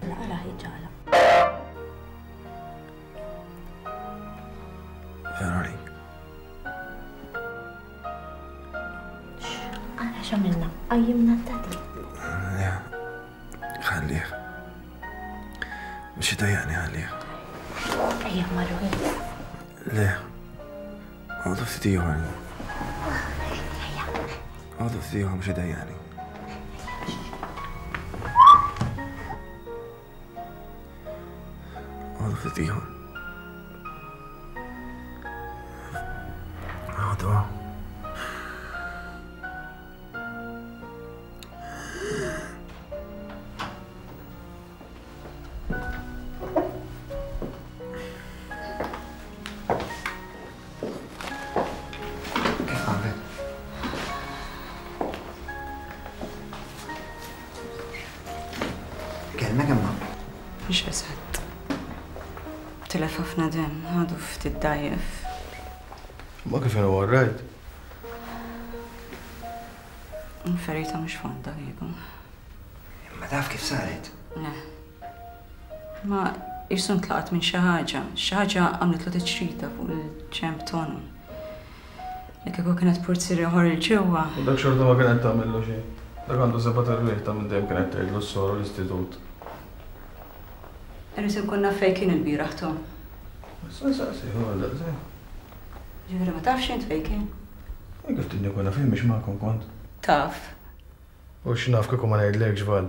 Għala ħiġala. Veronik. Għala x'għamilna? Qajjimna d-dadi. Le, ħallih. Mhux idejjaqni ħallih. Ejja marru. Le, għadu ftit ieħor. Għadu ftit ieħor mhux idejjaqni. Għadu ftit ieħor. Għadu. Kif qamet? Kelmek imma? Mhux eżatt. Tilef ħafna demm, għadu ftit dgħajjef. Ma kif inhu all right? Il-ferita mhux fonda kieku. Imma taf kif saret? Le. Ma qisu ntlaqat minn xi ħaġa. Xi ħaġa għamlitlu tiċrita fuq il-ġenb t'għonqu. Li kieku kienet purzier ieħor 'il ġewwa. U dak xorta ma kienet tagħmillu xejn. Dak għandu sebat erwieħ ta' minn dejjem kienet tgħidlu s-soru l-istitut. Irrid inkun naf fejn kien ilbieraħ Tom. Issa nsaqsih hu għal daqshekk. Ġifieri ma tafx int fejn kien? Jien kif tridni nkun naf jien mhix magħkom kont. Taf. U x'naf kieku ma ngħidlekx, Val?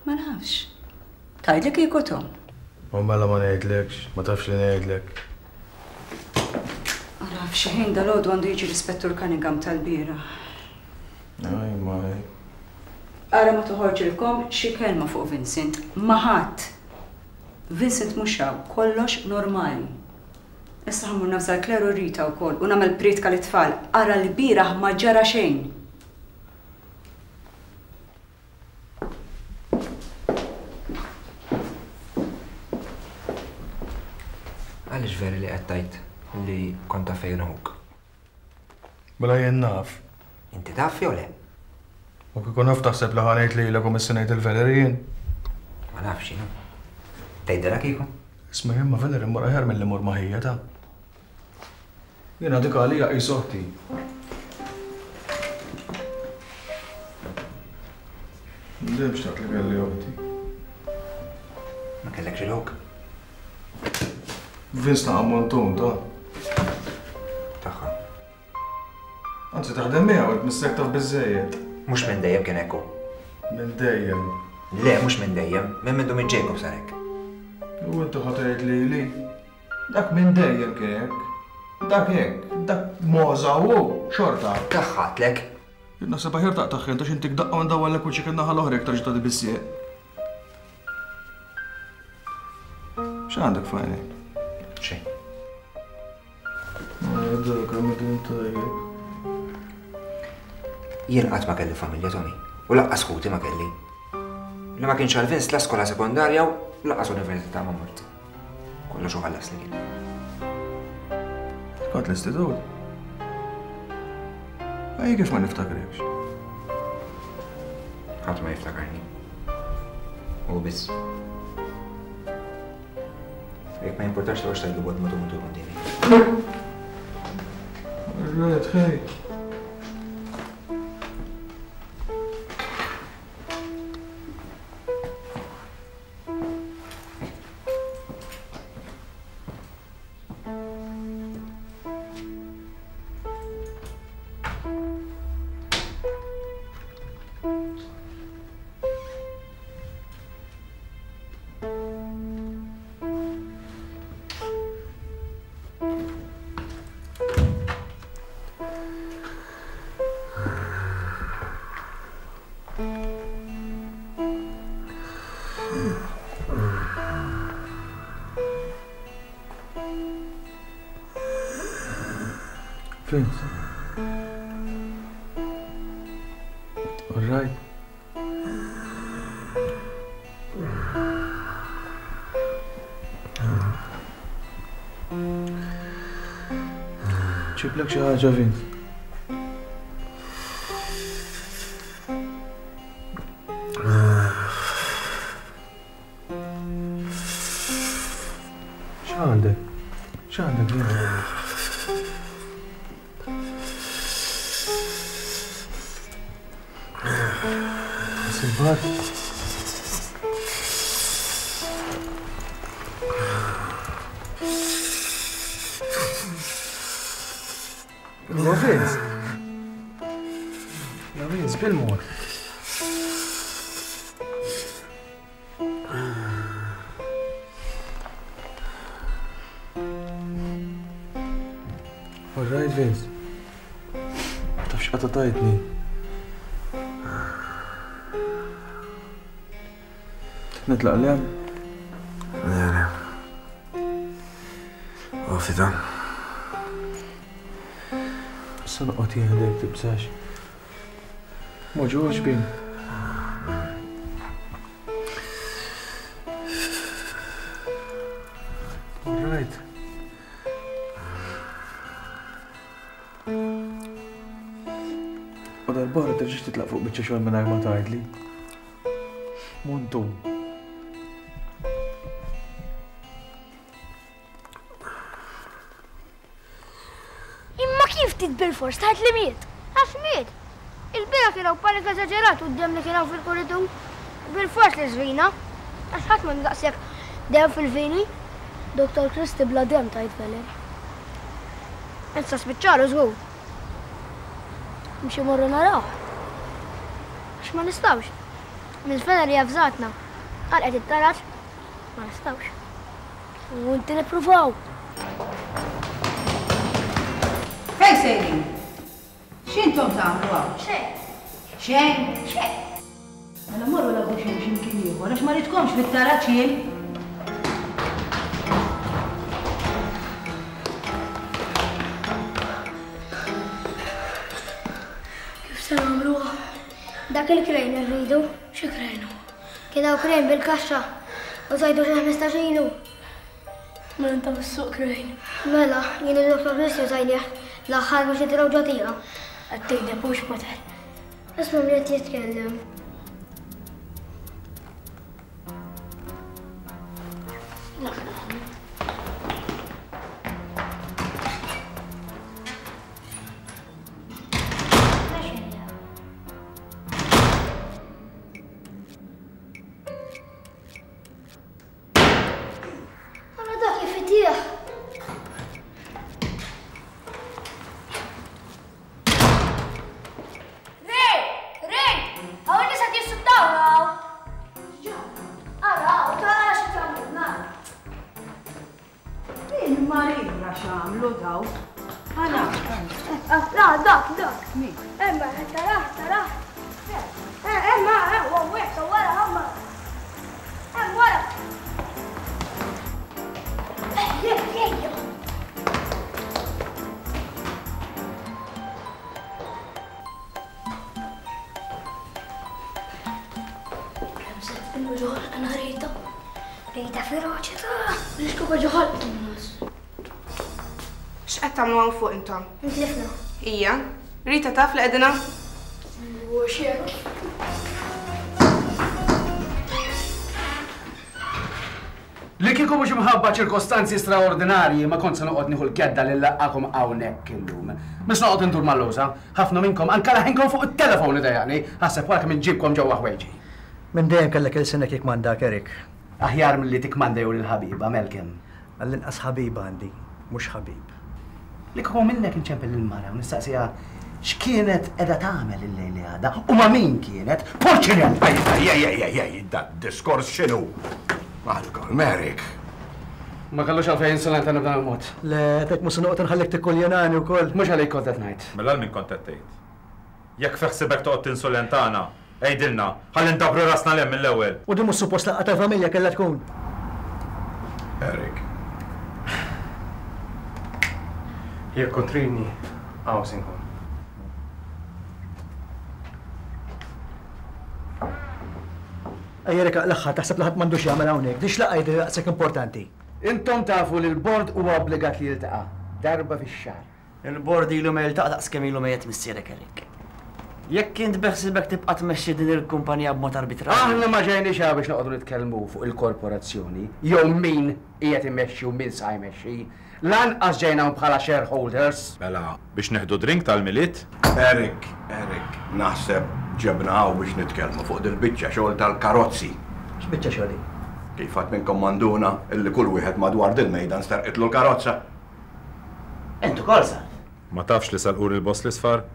Ma nafx. Tgħidli kieku Tom. U mela ma ngħidlekx, ma tafx li ngħidlek. Ara, f'xi ħin dalgħodu għandu jiġi l-Ispettur Cunningham tal-bieraħ. Aj, maj. Ara ma toħorġilkom xi kelma fuq Vincent. Ma' ħadd! Vincent mhux hawn, kollox normali. Issa ħa mmur navża 'l Claire u Rita wkoll u nagħmel prietka lit-tfal. Ara lbieraħ ma ġara xejn! Għaliex vera li qed tgħid li kont taf fejn hu ħuk? Mela jien naf. Inti taf jew le? U kieku naf taħseb li ħa ngħid lilek u missi ngħid il-Valerie jien? Ma nafx jien. Tgħidilha kieku? Isma' jien ma' Valerie mmur aħjar milli mmur ma' ħija ta'. Jiena dik għalija qis oħti. Dejjem xtaqt li kelli oħti. Ma kellekx il-ħuk? Vince ta' ammontun ta' Tagħha. Anzi taħdem miegħu qed missek taf biżejjed. Mhux minn dejjem kien hekk hu. Minn dejjem. Le, mhux minn dejjem, minn mindu minn Jacob sar hekk. U inti ħa tgħid lili? Dak minn dejjem kien hekk. Dak hekk. Dak mogħża u hu, xorta. Daħħatlek. Jien naħseb aħjar taqtagħha int għax intik daqqa u ndawwarlek wiċċek in-naħa l-oħra jekk terġa' tagħti bis-sieq. X'għandek f'għajnejk? Xejn. Dak kemm kien tajjeb. Jien qatt ma kelli familja, Tommy, u laqqas ħuti ma kelli. Li ma kienx għal Vince la skola sekondarja u laqqas università ma mort. Kollox u ħallas li kien. Kont l-istitut? Ej, kif ma niftakrekx? Ħadd ma jiftakarni. U biss. Jekk ma jimpurtax toqgħodx tgħidlu bot mutu mutu kontini. Rrid ħej. Vince. All right. Ġiblek xi ħaġa Vince. X'għandek? X'għandek Vince? Silvar. Vince. Vince, bil-mod. All right, Vince. Taf x'qata tajtni. Nitlaq l hemm? Le, le. Għafti ta' Issa noqgħod jien ħdejk tibżax. Moġuġ bin. All right. U darbora terġax titlaq fuq biċċa xogħol mingħajr ma tgħidli. Muntu. Imma kif trid bilfors tgħid li miet? Għax miet! Il-bieraħ kien hawn panik eżaġerat u d-demm li kien hawn fil-kuritur. Bilfors li żvina. Għax ħadd m'għandu daqshekk demm fil-vini. Dottor Christie bla demm tgħid Velen. Issa spiċċalu żgur. Mhux imorru narawh. Għax ma nistgħux. Miss Valerie avżatna. Għalqet it-taraġ. Ma nistgħux. U inti nippruvaw. Fejn sejrin? X'intom tagħmlu hawn? Xejn. Xejn? Xejn. Mela morru lagħbu xejn x'imkien ieħor għax ma ridkomx fit-taraġ jien. Kif se nagħmluha? Dak il-krejn irridu. Xi krejn hu? Kien hawn krejn bil-kaxxa u żajdu xi 15 ilu. Mela inta fis-suq krejn. Mela, jien u Dottor Chris użajnieh l-aħħar biex nitilgħu ġo tieqa. Qed tigdeb hux Potter? Isma' min qed jitkellem. Ara dak kif itih! Ray! Ray! Hawn nies qed jissuttawna hawn! Ara hawn, tara xi tagħmlilna! Il-Marija x'għamlu daw? Ara. La, dak, dak. Min? Emma, tara, tara. Emma, hawnhekk, wara, emma. Hemm wara. Ejja, ejja. Kemm se tkunu ġoħol għana rejta. Rejta feroċi ta' l-iskopa ġoħol nas. X'qed tagħmlu hawn fuq intom? Intlifna. Ija. Rita taf li qegħdin hawn? Mhux hekk. Li kieku mhux imħabba ċirkostanzi straordinarji ma kont se noqgħod nieħu l-kedda li nlaqqagħkom hawnhekk illum. Mhux noqgħod indur mal-lewża. Ħafna minnkom anke leħinkom fuq it-telefon idejjaqni, aħseb wara kemm inġibkom ġewwa ħwejġi. Minn dejjem kellek ilsinek jikkmandak, Eric. Aħjar milli tikkmanda jew lill-ħabiba, Malcolm. Għall-inqas ħabiba għandi, mhux ħabib. Li kieku minnek inċempel lill-mara u nistaqsiha x'kienet qiegħda tagħmel il-lejl li għadda u ma' min kienet, purċinell! Ej, ej, ej, ej, ej, ej, dad-diskors x'inhu? Malcolm, Eric. Ma kellux għalfejn jinsulentani b'dan il-mod. Le, għedtlek mhux se noqgħod inħallik tikkuljonani wkoll. Mhux għalik kont qed ngħid. Mela għal min kont qed tgħid? Jekk fi ħsibek toqgħod tinsulentana, għidilna, ħalli ndabbru rasna 'l hemm mill-ewwel. U din mhux suppost laqgħa tal-familja kellha tkun? Eric. Jekk kont tridni, hawn se nkun. Ejja Eric aqlagħha, taħseb li ħadd m'għandu x'jagħmel hawnhekk? Din x'laqgħa hi din daqshekk importanti? Intom tafu li l-bord huwa obbligat li jiltaqa' darba fix-xahar. Il-bord ilu ma jiltaqa' daqs kemm ilu mejjet missierek Eric. Jekk int beħsiebek tibqa' tmexxi din il-kumpanija b'mod arbitrarju. Aħna ma ġejniex hawn biex noqogħdu nitkellmu fuq il-korporazzjoni jew min qiegħed imexxi u min sa jmexxi. Lanqas ġejna hawn bħala shareholders. Mela, biex nieħdu drink tal-Milied? Eric, Eric, naħseb ġebna hawn biex nitkellmu fuq dil-biċċa xogħol tal-karozzi. X'biċċa xogħol hi? Kif ħadd minnkom ma nduna illi kull wieħed madwar dil-mejda nsterqitlu l-karozza? Int ukoll, Sal? Ma tafx li serquli l-boss l-isfar?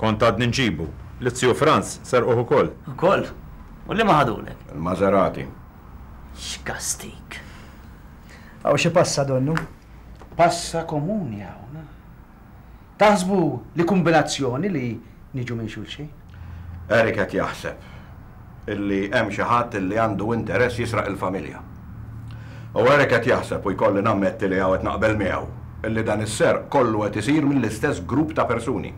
Kont għadni nġibu. Liz-ziju Frans serquh ukoll. Ukoll? U liema ħadulek? Il-Maserati. X'kastig! Hawn xi passa donnu. Passa komuni hawn. Taħsbu li kumbinazzjoni li niġu minn xulxin? Eric qed jaħseb illi hemm xi ħadd illi għandu interess jisraq il-familja. U Eric qed jaħseb, u jkolli nammetti li hawn qed naqbel miegħu, illi dan is-serq kollu qed isir mill-istess grupp ta' persuni.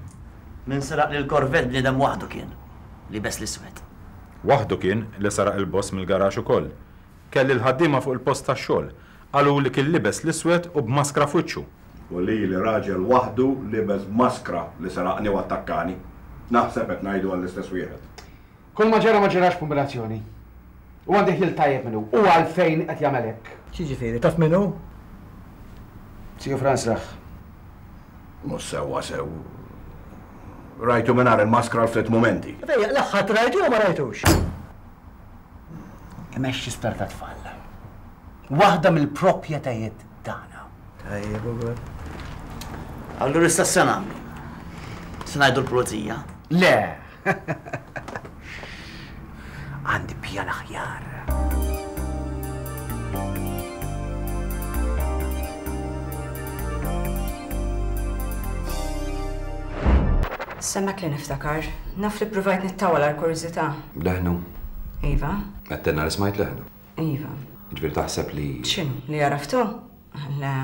Min seraq lill-Corvette bniedem waħdu kien, liebes l-iswed. Waħdu kien li seraq il-boss mill-garaxx ukoll. Kelli l-ħaddiema fuq il-post tax-xogħol. Qaluli kien libes l-iswed u b'maskra f'wiċċu. U lili raġel waħdu libes b'maskra li seraqni u attakkani. Naħseb qed ngħidu għall-istess wieħed. Kull ma ġara ma ġarax b'kumbinazzjoni. U għandi ħjiel tajjeb min hu u għalfejn qed jagħmel hekk. X'jiġifieri, taf min hu? Ziju Frans rah. Mhux sewwa sew. Rajtu mingħajr il-maskra għal ftit mumenti. Fejjaq, l-aħħar rajtu jew ma rajtux? Imexxi sptar tat-tfal. Waħda mill-proprjetajiet tagħna. Tajjeb ukoll. Allura issa x'se nagħmlu? Se ngħidu l-pulizija? Le! Għandi pjan aħjar. Semmek li niftakar. Naf li ppruvajt nittawwal għall-kurżità. Leħnu? Iva. Għedtilna li smajt leħnu. Iva. Jiġifieri taħseb li. X'inhu? Li għaraftu? Le.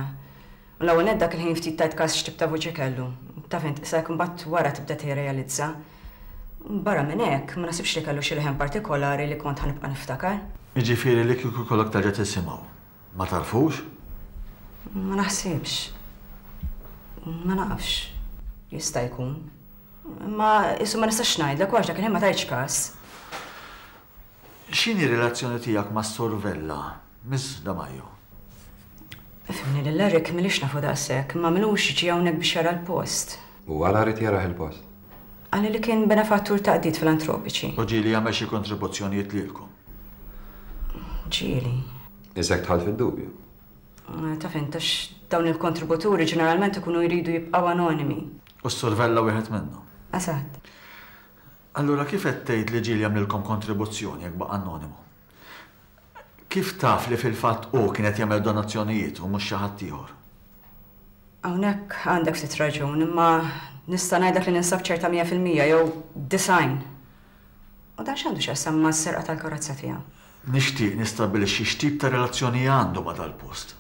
U l-ewwel nett dak il-ħin ftit tajt kas x'tip ta' vuċi kellu. Taf int, qisek imbagħad wara tibda tirrealizza. Barra minn hekk, ma naħsibx li kellu xi leħen partikolari li kont ħa nibqa' niftakar. Jiġifieri li kieku jkollok terġa' tisimgħu, ma tagħrfux? Ma naħsibx. Ma nafx. Jista' jkun. Imma qisu ma nistax ngħidlek u għax dak il-ħin ma tajtx kas. X'inhi r-relazzjoni tiegħek mas-Sur Vella, Miss Damajo? Ifhimni lil Eric m'ilix nafu daqshekk, imma m'ilux ġie hawnhekk biex jara l-post. U għala ried jarah il-post? Qalli li kien benefattur ta' qdied filantropiċi. U ġieli jagħmel xi kontribuzzjonijiet lilkom? Ġieli. Isek dħalt fid-dubju. Taf int għax dawn il-kontributuri ġeneralment ikunu jridu jibqgħu anonimi. U s-Sur Vella wieħed minnhom? Eżatt. Allura kif qed tgħid li ġieli għamlilkom kontribuzzjoni jekk baqa' anonimu? Kif taf li fil-fatt hu kien qed jagħmel donazzjonijiet u mhux xi ħadd ieħor? Hawnhekk għandek ftit raġun, imma nista' ngħidlek li ninsab ċerta 100% jew 90. U dan x'għandu x'jaqsam mas-serqa tal-karozza tiegħu? Nixtieq nistabbilixxi x'tip ta' relazzjoni għandu ma' dal-post.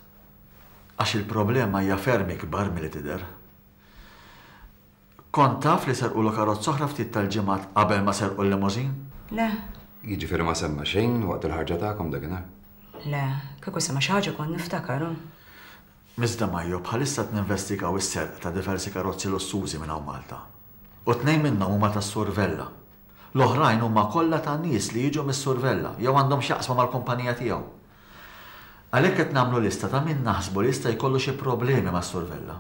Għax il-problema hija ferm ikbar milli tidher. Kont taf li serqulu karozza oħra ftit tal-ġimgħat qabel ma serqu l-limousine? Le. Jiġifieri ma semma xejn waqt il-ħarġa tagħkom dakinhar? Le, kieku semma xi ħaġa kont niftakar, hu. Miss Demajo, bħalissa qed ninvestigaw is-serq ta' diversi karozzi lussużi minn hawn Malta. U tnejn minnhom huma tas-Sur Vella. L-oħrajn huma kollha ta' nies li jiġu mis-Sur Vella jew għandhom x'jaqsmu mal-kumpanija tiegħu. Għalhekk qed nagħmlu lista ta' min naħsbu li jista' jkollu xi problemi mas-Sur Vella.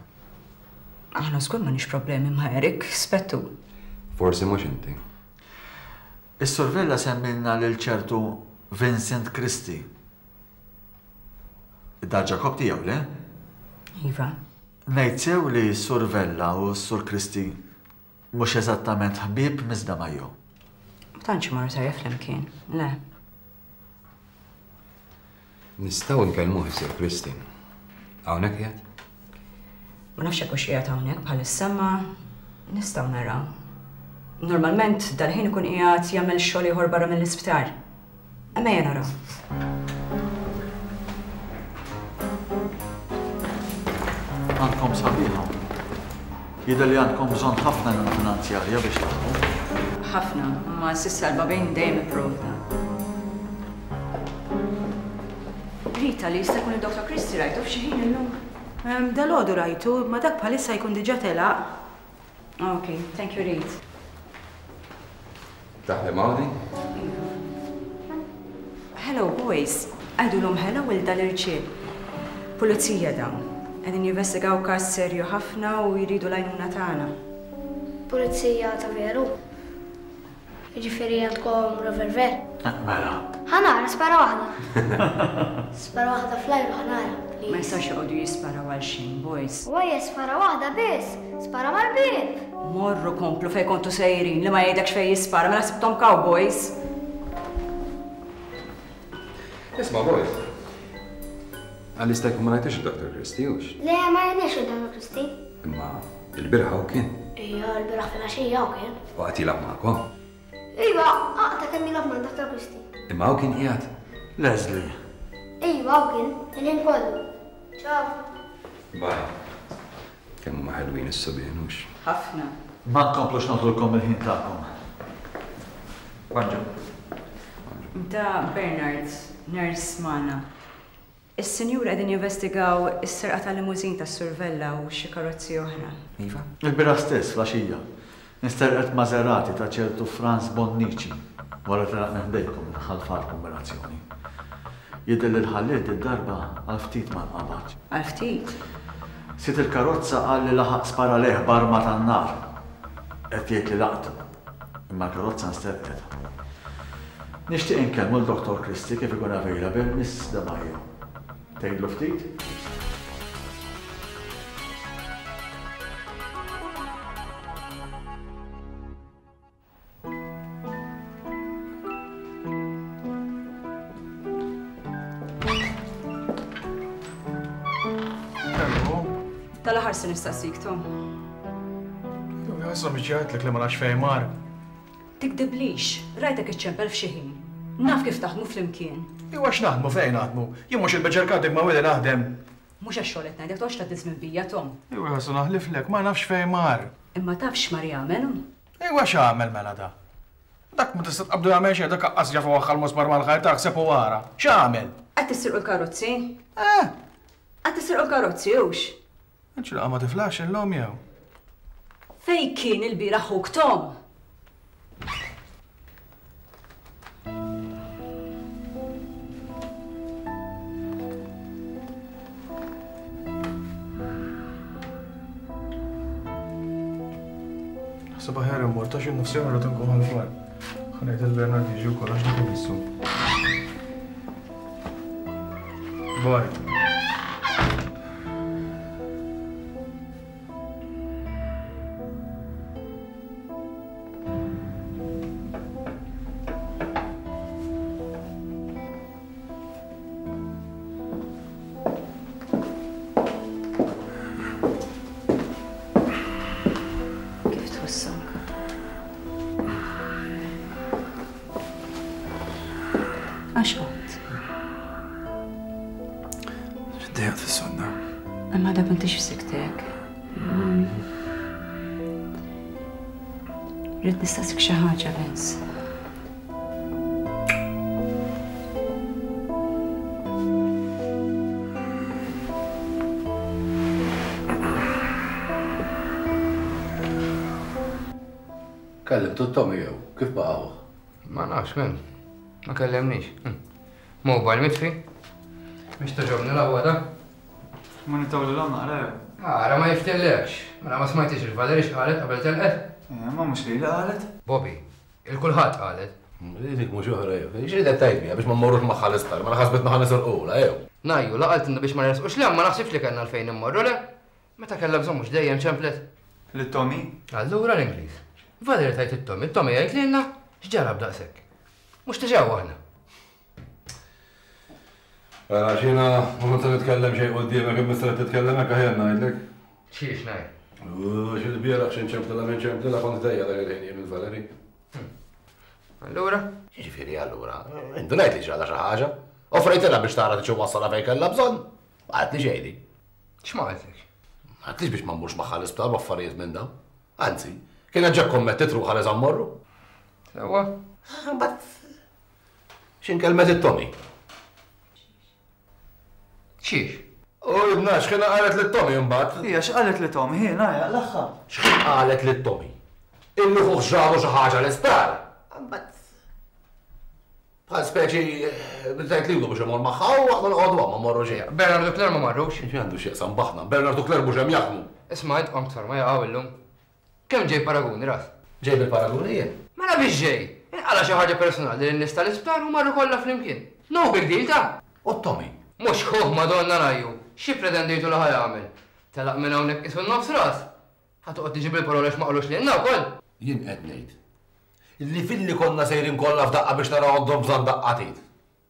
Aħna żgur m'għandniex problemi ma' Eric, Spettur. Forsi mhux inti. Is-Sur Vella semmilna lil ċertu Vincent Christie. Id-dar Ġakobb tiegħu, le? Iva. Ngħid sew li s-Sur Vella u s-Sur Christie mhux eżattament ħbieb Miss Damajo? Ma tantx imorru tajjeb flimkien, le. Nistgħu nkellmuh is-Sur Christie. Hawnhekk qiegħed? Ma nafx jekk hux qiegħed hawnhekk bħalissa imma nistgħu naraw. Normalment dal-ħin ikun qiegħed jagħmel xogħol ieħor barra mill-isptar. Imma ejja naraw. Għandkom sabiħa. Jidher li għandkom bżonn ħafna għajnuna finanzjarja biex taħdmu. Ħafna, imma s'issa l-Babin dejjem ipprovda. Rita li jista' jkun id-Dr. Christie rajtu f'xi ħin illum? Dalgħodu rajtu, imma dak bħalissa jkun diġà telaq. Ok, thank you Rit. Taħdem hawn din? Iva. Hello boys, għidulhom hello 'il dal-irġiel. Pulizija dawn. Qegħdin jinvestigaw każ serju ħafna u jridu l-għajnuna tagħna. Pulizija ta' veru? Jiġifieri għandkom revolver? Mela. Ħa nara, spara waħda. Spara waħda fl-ajru ħa nara, please. Ma jistgħux joqogħdu jisparaw għal xejn, boys. Wajja spara waħda biss! Spara mal-bieb! Morru komplu fejn kontu sejrin, li ma jgħidekx fejn jispara, mela ħsibthom cowboys! Isma' boys. Għal jista' jkun ma rajtux id-Dr. Christie hux? Le, ma rajniex id-Dr. Christie. Imma il-bieraħ hawn kien. Ija, l-bieraħ filgħaxija hawn kien. U qagħad jilgħab magħkom? Iva, aqta' kemm jilgħab ma' Dr. Christie. Imma hawn kien qiegħed? Leslie. Iva, hawn kien, il-ħin kollu. Ciao. Bye. Kemm huma ħelwin is-subien, hux? Ħafna. Ma nkomplux noħdulkom il-ħin tagħkom. Bonġu. Da Bernard, nurse magħna. Is-sinjuri qegħdin jinvestigaw is-serqa ta' limousine tas-Sur Vella u xi karozzi oħra. Iva. Il-bieraħ stess, fl-għaxija, insterqet Maserati ta' ċertu Frans Bonnici wara telaq minn ħdejkom minn Ħal Far kombinazzjoni. Jidher li l-ħalliel did-darba għal ftit ma nqabadx. Għal ftit? Sid il-karozza qal li laħaq spara lejh b'arma tan-nar. Qed jgħid li laqtu. Imma l-karozza nsterqet. Nixtieq inkellmu 'l Dottor Christie kif ikun available, Miss De Maio. Tgħidlu ftit? Tal-aħħar se nistaqsik, Tom. Issa biex jgħidlek li ma nafx fejn mar. Tikdiblix, rajtek iċċempel f'xi ħin. Naf kif taħdmu flimkien. Iwa x'naħdmu fejn naħdmu? Jien mhux il-beġerkatik ma' Willy naħdem. Mhux għax-xogħol qed ngħidlek toqgħodx tgħaddi żmien bija, Tom. Iwa ħassu naħliflek, ma nafx fejn mar. Imma taf x'mar jagħmel hu? Iwa x'għamel mela da? Dak ma tista' tqabbdu jagħmel xejn, dak aqqas jaf iwaħħal musmar mal-ħajt aħseb u ara. X'għamel? Qed tisirqu l-karozzi? Eh! Qed tisirqu l-karozzi hux? Int xi laqgħa ma tiflaħx illum jew? Fejn kien ilbieraħ ħuk Tom? Naħseb aħjar immur ta' xi nofs oħra inkun ħalfar. Ħa ngħid lil Bernard jiġi wkoll għax dak imissu. Bye. Kif tħossok? Għax qomt? Ġdejat fis-sodda. Imma dak m'intix f'siktek. Rrid nistaqsik xi ħaġa, Vince. Kellimtu t-Tommy jew kif baqa' hu? Ma nafx, men. Ma kellemnix. Hm. Mobile mitfi. Mhix togħġobni l-aħwa ta'. Ma nittawlilhom naqra jew? Ara ma jiftillekx. Mela ma smajtix il-Valerie x'qalet qabel telqet? Eh, ma mhux lili qalet. Bobby, il kulħadd qalet. Dik mhux oħra jew. X'ridet tgħid biha biex ma mmorrux magħha l-isptar, mela ħasbitna ħa nisirqulha jew. Ngħajju, la qaltilna biex ma nersqux 'l hemm ma naħsibx li kellna għalfejn immorru, le? Meta kellha bżonn mhux dejjem ċemplet? Lil Tommy? Allura l-Ingliż. Valerie tgħid lil Tommy, Tommy jgħid lilna, x'ġara b'daqshekk? Mhux diġà aħna. Mela għax jiena ma kont se nitkellem xejn quddiemek imma issa li titkellem hekk aħjar ngħidlek. Xiex ngħid? Għax ilbieraħ xi nċemplilha minn ċemplilha kont ħdejja dak il-ħin jien il-Valerie. Allura? Jiġifieri allura, indunajt li ġralha xi ħaġa. Offrejtilha biex tara trid iwassalha fejn kellha bżonn. Ma qaltli xejn din. X'ma qaltlek? Ma qaltlix biex ma mmurx magħha l-isptar u affarijiet minn dawn. Anzi, kienet ġa kkommettiet ruħha li sa mmorru. Sewwa. Imbagħad x'inkelmet it-Tommy? Xiex? U ibna, x'kien qalet lil Tommy imbagħad? Hija x'qalet li Tommy, hi ngħajja l-aħħar. X'kien qalet lil Tommy? Illi ħuh ġralu xi ħaġa l-isptar. Imbagħad bħal speċi tgħid lilu biex imur magħha u aħna noqogħdu hawn ma mmorru xejn. Bernard u Claire ma marrux. X'għandu x'jaqsam b'aħna? Bernard u Claire mhux hemm jaħdmu. Isma' int qomt forma jaqgħu illum. Kemm ġej paraguni ras? Ġej bil-paraguni jien? Mela biex ġej? Inqala' xi ħaġa personali lin-nies tal-isptar u marru kollha flimkien. No big deal ta! U Tommy? Mhux ħuh Madonna rajju! Xi ppretendejtu li ħa jagħmel? Telaq minn hawnhekk qisu n-nofs ras! Ħa toqgħod tiġi bil-paroli għax ma qalux lilna wkoll? Jien qed ngħid li filli konna sejrin kollha f'daqqa biex naraw għandhom bżonn daqqa t'id.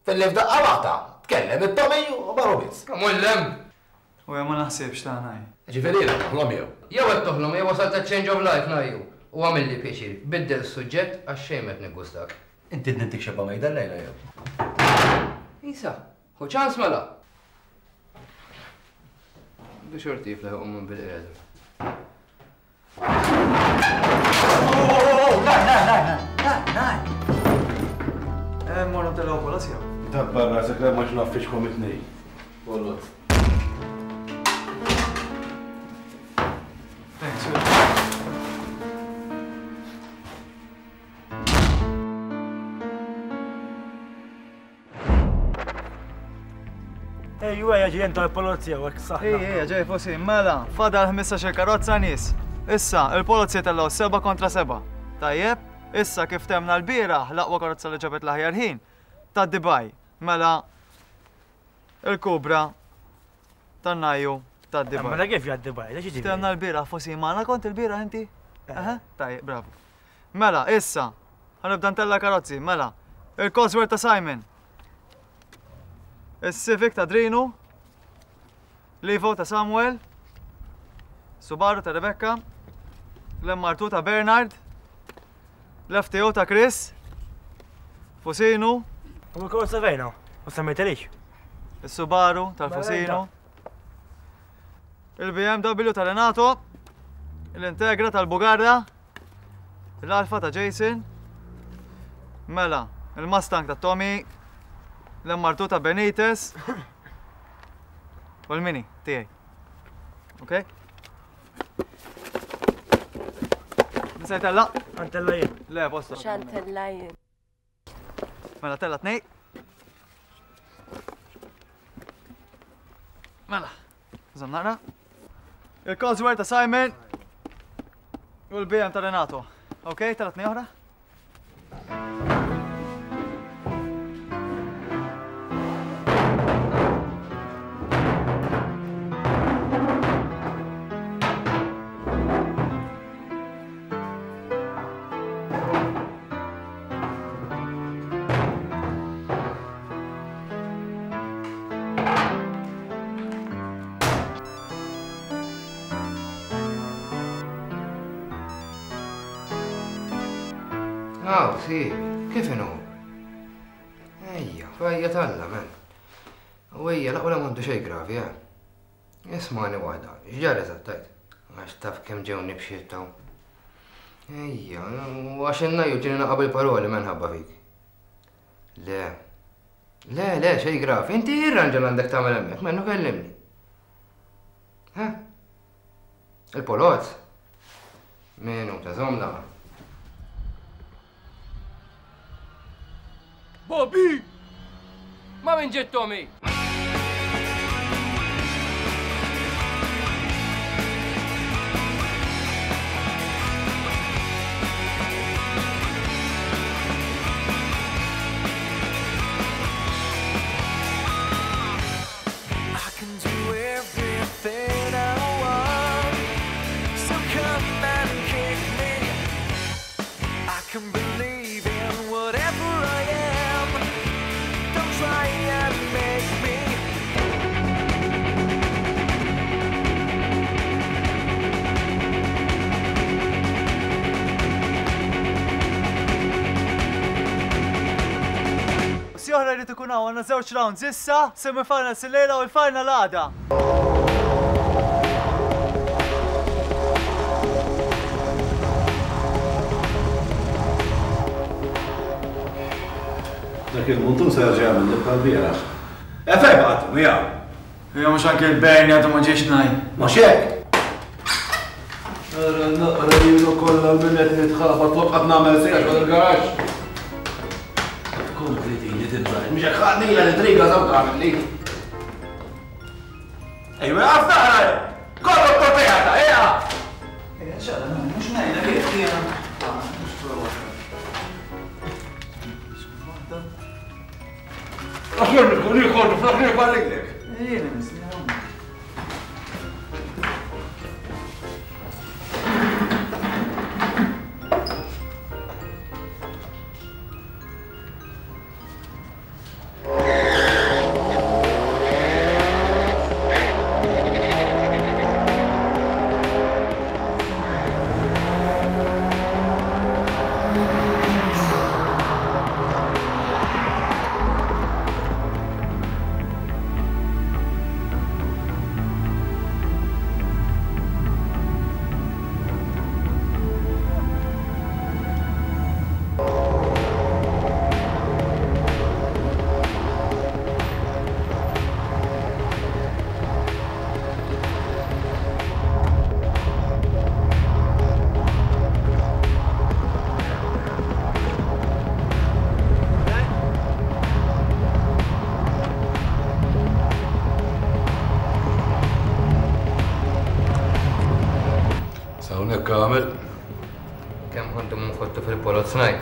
Filli f'daqqa waħda tkellem it-Tommy u marru biss. Kemm hu l-hemm! U jien ma naħsibx ta' ngħid. Ġifieri jiena noħlom jew? Jew qed toħlom jew wasalt għaċ-change of life ngħajju. U għamilli pjaċir, biddel s-suġġett għax xejn m'qed niggustak. Inti tnittik xebgħa mejda llejla jew? Isa, ħu ċans mela! Għandu xorti jiflaħ iqum minn bil-qiegħda. Morru ntelgħu polozja. Dabbar rasek la ma x'naffiċkom it-tnejn. Polozz. Thanks. Ejju ejja ġejjin tal-polozija u hekk saħna. Ejja ejja ġej fosi, mela, fadal 15 karozza nies. Issa, il-polozija tellgħu 7 kontra 7. Tajjeb, issa kif temna l-bieraħ l-aqwa karozza li ġabet l-aħjar ħin ta' Dubai. Mela, il-kubra tan-najju ta' Dubai. Mela kif jgħaddi Dubai? Temna l-bieraħ fosi magħna kont il-bieraħ inti? Eh. Tajjeb, bravo. Mela, issa, ħa nibda ntella' karozzi, mela. Il-Cosworth ta' Simon. Is-Civic ta' Drinu. L-Evo ta' Samuel. Subaru ta' Rebecca. L-MR2 ta' Bernard. L-FTO ta' Chris. Fusinu. U l-karozza fejna? Ma semmejtelix. Is-Subaru tal-Fusinu. Il-BMW ta' Renato. L-Integra tal-Bugarra. L-Alfa ta' Jason. Mela, il-Mustang ta' Tommy. L-MR2 ta' Benitez. U l-Mini tiegħi. Ok? Nsejt tella? Għantella jien. Le, posto. Xantella jien. Mela tella tnej. Mela, żomm naqra. Il-Cosworth ta' Simon u l-BM ta' Renato. Ok, tella tnej oħra? Aw, si, kif inhu? Ejja, fajja talla, men. U ejja, laqwa la m'għandu xejn gravi, eh. Ismagħni waħda, x'ġara eżatt tgħid? Għax taf kemm ġewni b'xiet hawn. Ejja, u għax in-najju ġieni naqa' bil-paroli minħabba fik. Le. Le, le, xejn gravi. Inti irranġa l-għandek tagħmel hemmhekk, mennu kellimni. Ha? Il-polozz? Minuta, żomm naqa'. Bobby! Ma' min ġiet Tommy? I can do everything I want. So come and kick me. I can believe in whatever I am. Don't try and make me. Si oħra jrid ikun hawn għandna żewġ rounds issa, semi-finals illejla u l-final għada. Dak il-muntun se jerġa' jagħmilli bħal bieraħ. E fejn baqgħet miegħu? Ejja mhux anke l-Bernie għadu ma ġiex ngħid. Mhux hekk? Ara naqra lilu kollha minn qed nitħabat flok qed nagħmel sejja xogħol il-garaxx. Kompli tini tibża'. Mhux hekk ħadnila li triga sew tagħmel Ejwa, għaf naqra! Kollu proprjetà, ejja! Ejja, ċara, mhux ngħidlek jekk jiena. Mhux prova. Aħjar ikun ieħor fl-aħjar barrilek. Jiena nisni. S'hawnhekk għamel. Kemm ħa ndumu nfottu fil-polozz ngħid.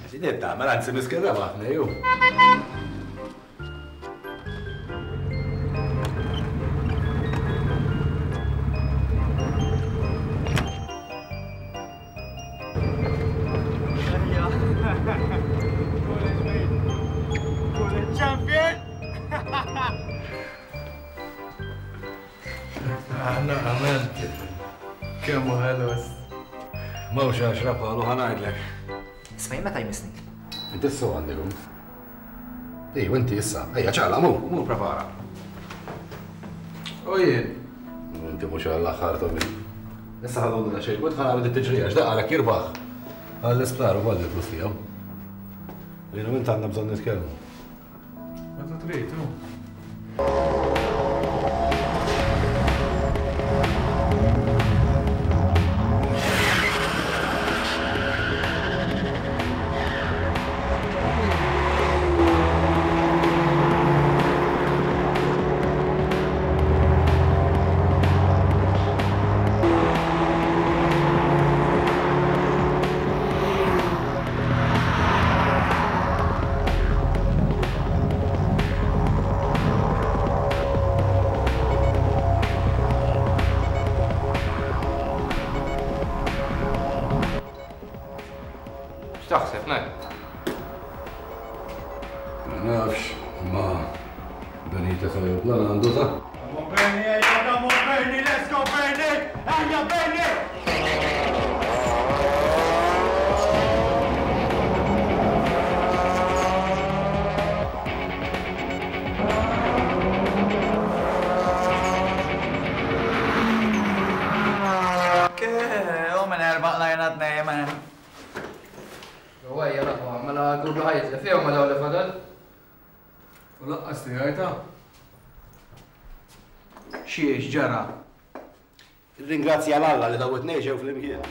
X'inhi tagħmel anzi miskin rebaħni ju. Aħna għamilt. Kemm hu ħelus. Mawx għaxra bħalu ħa ngħidlek. Isma' jien meta jmissni? Inti s għandek. Ej, u inti issa. Ejja, ċaqla, mur, mur prepara. U jien. Inti mhux għall-aħħar Tobi. Issa ħadu da xejn, kont ħana t-tiġrija, x'daqqa għalek jirbaħ. Għall-isptar u għal il-flus tiegħu. Jien u int għandna bżonn nitkellmu. Meta trid, hu. X'taħseb, Ned? Ma nafx, ma Benita tal-ajruplan għandu ta'. Come on Bernie, ejja, come on Bernie, let's go Bernie! Ejja Bernie! U minn erba' qlajna tnejn, man. U ejja l-aħwa, mela għadu ħa jitlef jew ma dawn li fadal? U laqqas tiegħi ta'. Xiex ġara? Irringrazzja 'l Alla li dawn it-tnejn ġew flimkien.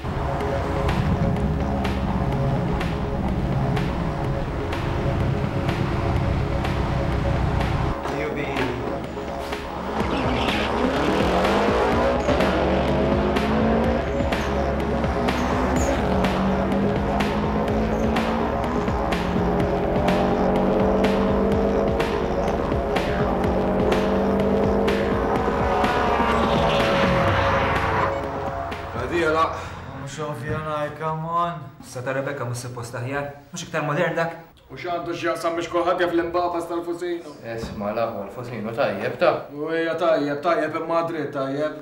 Mhux ovvja ngħid, come on. Sa ta' Rebecca mhux suppost aħjar, mhux iktar modern dak. U x'għandu x'jaqsam biex kulħadd jaf l-imbabas tal-Fusinu. Isma' l-aħwa l-Fusinu tajjeb ta'. U hija tajjeb, tajjeb imma dritt tajjeb.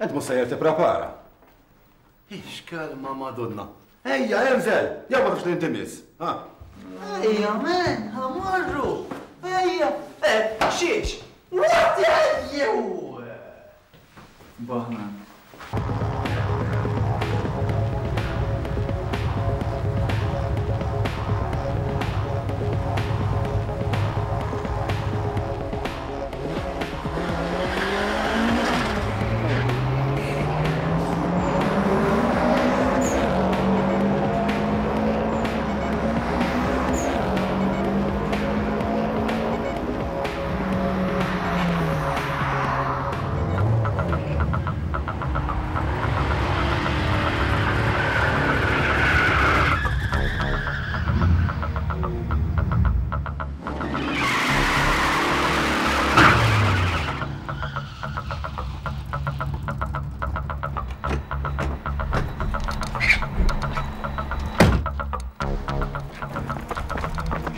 Int mhux sejjer tipprepara. Ix kelma Madonna. Ejja, inżel! Jew ma tafx li inti miss, ha? Ejja, man, ħa mmorru! Ejja, eh, xiex? What are you? Baħna.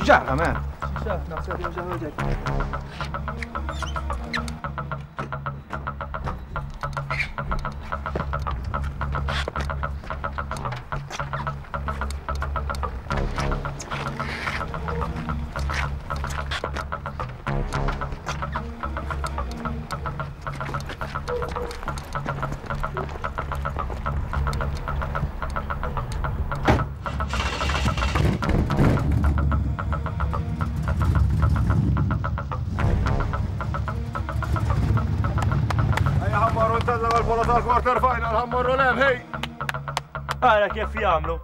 X'ġara, man? Naħseb jew xi ħaġa. Ejja ħa mmorru ntellgħu għall-bola tal-quarter final, ħa mmorru 'l hemm, ħej! Ara kif jagħmlu.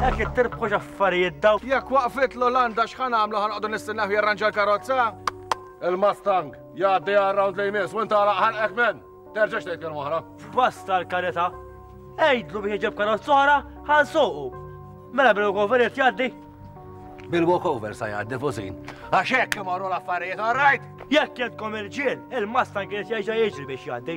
Hekk ittirbħu x'affarijiet daw. Jekk waqfit l-Olanda x'ħa nagħmlu ħa noqogħdu nistennew jirranġa l-karozza? Il-Mustang jgħaddi għar-round li jmiss u int għalaq ħalqek men. Terġax tgħid kelma oħra. Basta l-karità. Għidlu biex iġib karozza oħra ħa nsuqu. Mela bil-walkover irid jgħaddi? Bil-walkover sa jgħaddi Fusin. Għax hekk imorru l-affarijiet, all right? Jekk jentkom irġiel, il-Mustang irid jerġa' jiġri biex jgħaddi.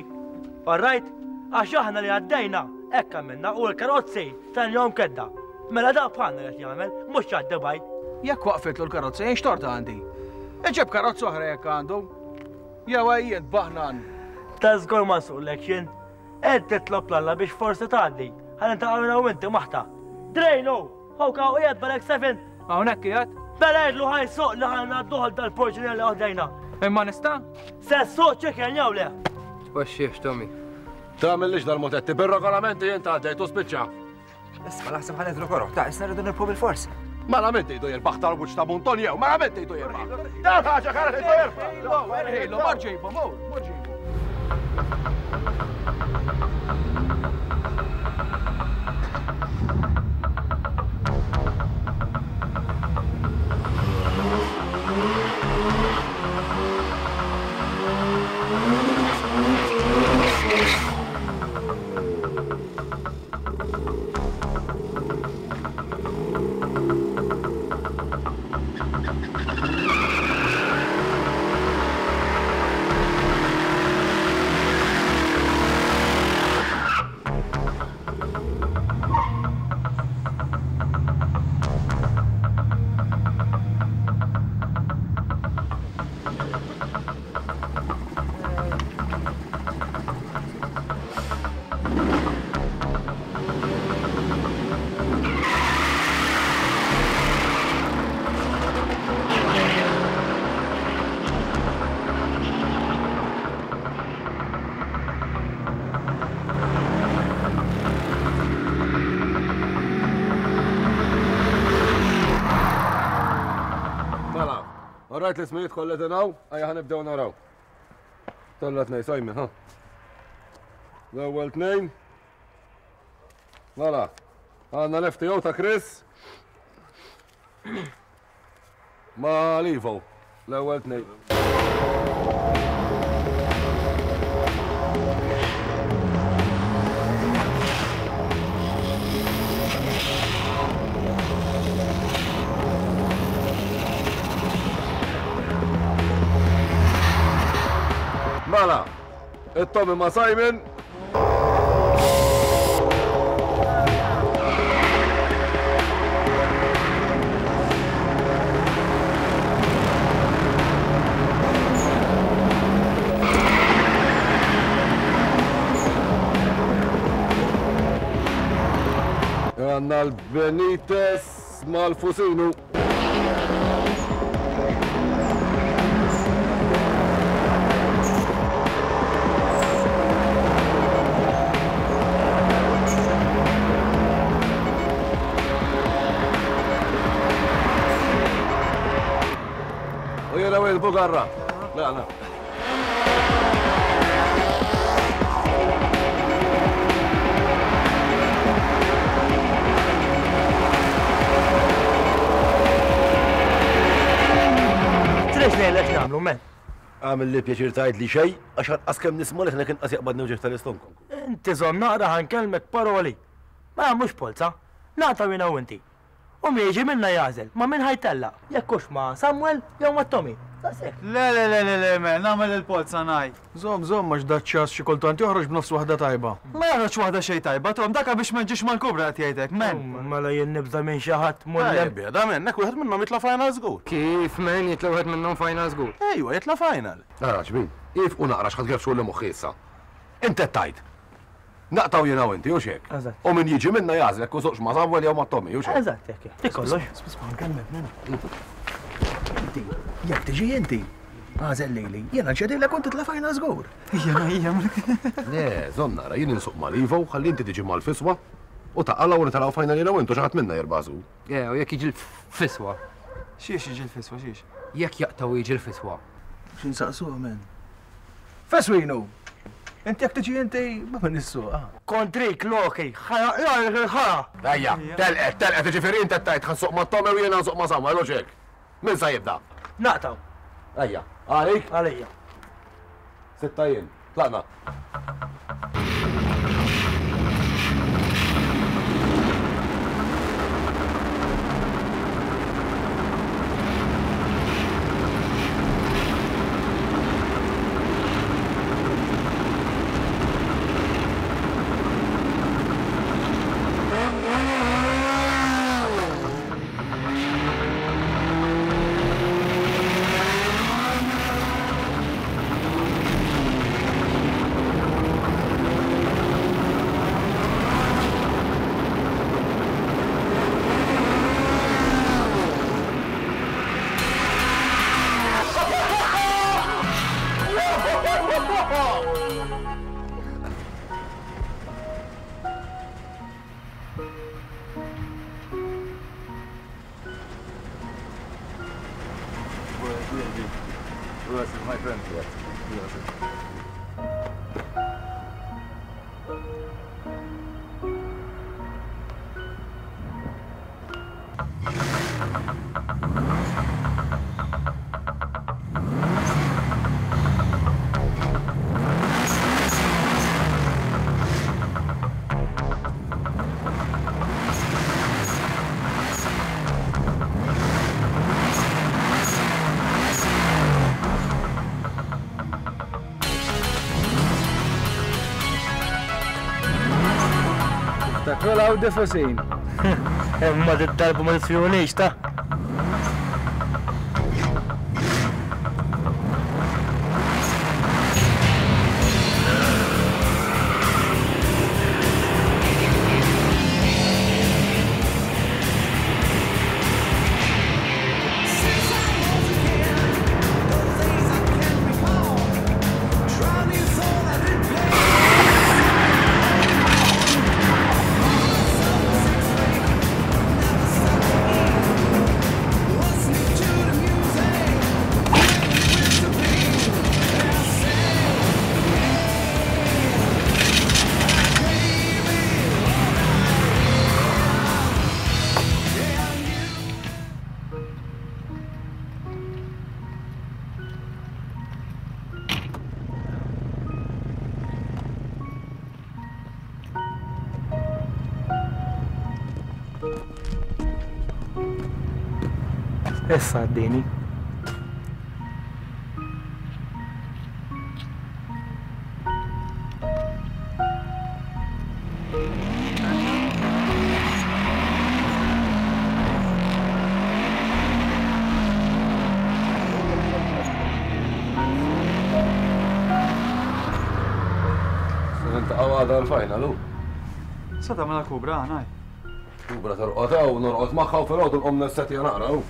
All right? Għax aħna li għaddejna, hekk għamilna u l-karozzi tal-jom kedda. Mela da bħalna qed jagħmel, mhux jgħaddi baj. Jekk waqfitlu l-karozza jien x'tort għandi? Iġib karozza oħra jekk għandu. Jew għajjien baħnan. Ta' żgur ma nsuqlekx jien. Ed titlob l-Alla biex forsi tgħaddi. Ħalli niltaqgħu jiena u inti maħta. Drejnu! Hawk hawn qiegħed Balek 7. Hawnhekk qiegħed? Mela għidlu ħa jsuq li ħa ngħadduh għal dal-porġinier li ħdejna. Imma nista'? Se ssuq chicken jew le? Tpaxxihx Tommy. Tagħmillix dal-mutetti, bir-regolamenti int għaddejt u spiċċa. Isma' naħseb ħa nidhru koroh, ta' issa rridu nirbħu bilfors. Mela min tgħidu jirbaħ tal-wiċċ ta' Munton jew, mela min tgħidu jirbaħ? Dan ħaġa kara tgħidu jirbaħ. Erħilu, mar ġibu, mur, mur ġibu. Mela, rajt l-ismijiet kollha din hawn, ejja ħa nibdew naraw. Tella tnej, Simon, ha? L-ewwel tnejn. Mela, għandna l-FTO ta' Chris. Ma' Livo, l-ewwel tnejn. Mela, it-Tommy ma' Simon. Għanna l-Benitez mal-Fusinu. Il-bugarra. Laqna. Trid ngħidlek x'nagħmlu, men. Għamilli pjaċir tgħidli xejn, għax anqas kemm nisma' leħnek inqas jaqbadni wġigħ tal-istonku. Inti żomm naqra ħa nkellmek paroli. Ma nagħmlux polza. Naqtgħu jiena u inti. U min jiġi minna jagħżel ma' min ħa jtellaq, jekk hux ma' Samuel jew ma' Tommy. Daqshekk. Le le le le le man, nagħmel il-polza ngħid. Żomm, żomm għax daċ-ċass xi kultant joħroġ b'nofs waħda tajba. Ma joħroġx waħda xejn tajba, Tom, daka biex ma nġix mal-kubra qed jgħid hekk, man. Mela jien nibża' minn xi ħadd mullem. Tajjeb, biegħda minnek, wieħed minnhom jitla' final żgur. Kif, man, jitla' wieħed minnhom final żgur? Ejwa, jitla' final. Ara xbin, iefqu naqra x'ħa tgerfxuli moħħi issa. Int qed tgħid. Naqtgħu jiena u inti, hux hekk? Eżatt. U min jiġi minna jagħżel jekk usuqx ma' Samuel jew ma' Tommy, hux hekk? Eżatt, hekk hekk. Dik kollox. Isma' nkellmek, Nena. Inti, jekk tiġi inti, agħżel lili, jiena nċedilek u titla' final żgur. Ija, ija. Le, żomm nara, jien insuq mal-Ivo, ħalli inti tiġi mal-Fiswa u taqalgħu u nitilgħu final jiena u int u xi ħadd minna jirbaħ żgur. Le, u jekk jiġi l-Fiswa? Xiex jiġi l-Fiswa, xiex? Jekk jaqtgħu jiġi l-Fiswa. Xi nsaqsuh, men? Feswinu! Inti jekk tiġi inti, ma min issuq, ah. Kontrik, Loki, ħa naqlagħlek il-ħara! Ejja, telqet, telqet, jiġifieri int qed tgħid ħa nsuq ma' Tommy u jiena nsuq ma' Samuel, hux hekk? Min sa jibda? Naqtgħu. Ejja, għalik? Għalija. Sitta jien. Tlaqna. Tiftakru l-Audi Fusin. Imma dit-darba ma tisfihulix ta'. Issa għaddini. Se niltaqgħu għada l-final, hu. Sa tagħmilha kubra, ngħid. Kubra torqod hawn, norqod magħha u filgħodu nqum nessetja naqra, hu.